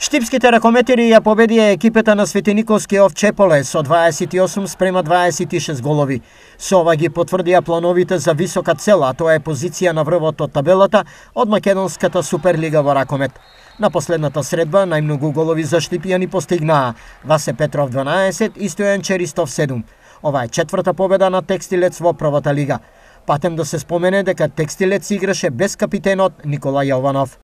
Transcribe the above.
Штипските ракометери ја победија екипата на Светениковски Овчеполе со 28-26 голови. Со ова ги потврдија плановите за висока цел, а тоа е позиција на врвот од табелата од македонската Суперлига во ракомет. На последната средба најмногу голови за Штипјани постигнаа Васе Петров 12 и Стојан Черистов 7. Ова е четврта победа на Текстилец во првата лига. Патем да се спомене дека Текстилец играше без капитенот Никола Јованов.